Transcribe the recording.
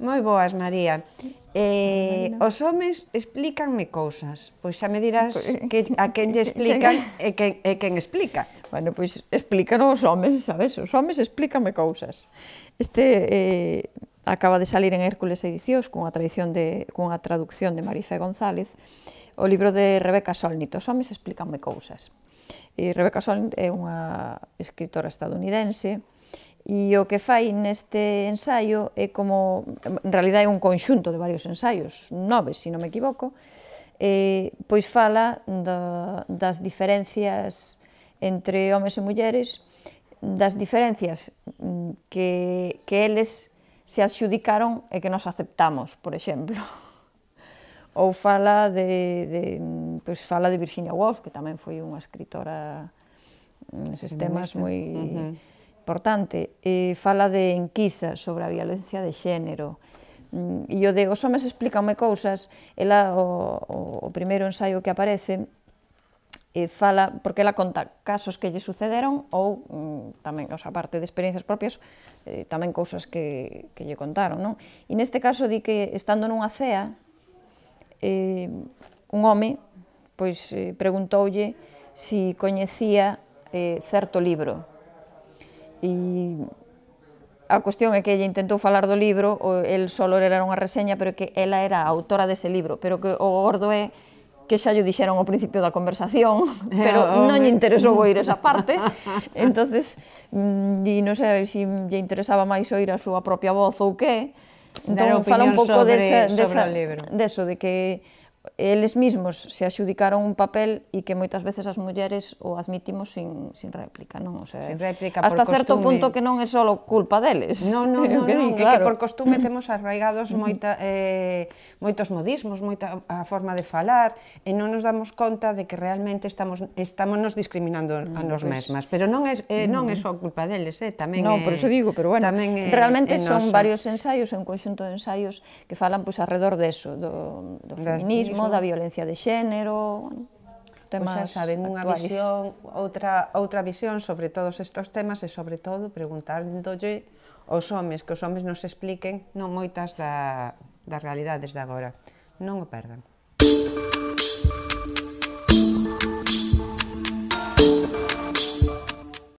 Moi boas, María. Os homes explícanme cousas. Pois xa me dirás a quen lle explican e quen explica. Bueno, pois explícanos os homes, sabes? Os homes explícanme cousas. Este acaba de salir en Hércules Edicións cunha traducción de Marifé González, o libro de Rebecca Solnit, Os homes explícanme cousas. Rebecca Solnit é unha escritora estadounidense e o que fai neste ensaio é como, en realidad é un conxunto de varios ensaios, 9, se non me equivoco, pois fala das diferencias entre homes e mulleres, das diferencias que eles se adxudicaron e que nos aceptamos, por exemplo. Ou fala de Virginia Woolf, que tamén foi unha escritora neses temas moi importante. Fala de Enquisa, sobre a violencia de xénero. E o de Os homes explícanme cousas, ela, o primeiro ensaio que aparece, fala, porque ela conta casos que lle sucederon ou tamén, a parte de experiencias propias, tamén cousas que lle contaron, non? E neste caso di que, estando nunha cea, un home preguntoulle si coñecía certo libro. E a cuestión é que ella intentou falar do libro, el solo era unha reseña, pero que ela era a autora dese libro, pero que o gordo é que xa lle dixeron ao principio da conversación, pero non lle interesou oír esa parte, entonces, non sei se lle interesaba máis oír a súa propia voz ou que, entón fala un pouco deso, de que eles mesmos se adxudicaron un papel e que moitas veces as mulleres o admitimos sin réplica, non? Sin réplica, por costume. Hasta certo punto que non é só culpa deles. Non, que por costume temos arraigados moitos modismos, moita a forma de falar, e non nos damos conta de que realmente estamos nos discriminando a nos mesmas, pero non é só culpa deles, tamén é... Non, por iso digo, pero bueno, realmente son varios ensaios, un conxunto de ensaios que falan arredor deso, do feminismo, da violencia de xénero, temas actuais. Xa saben, unha visión, outra visión sobre todos estes temas e, sobre todo, preguntándolle aos homes, que os homes nos expliquen non moitas das realidades de agora. Non o perdan.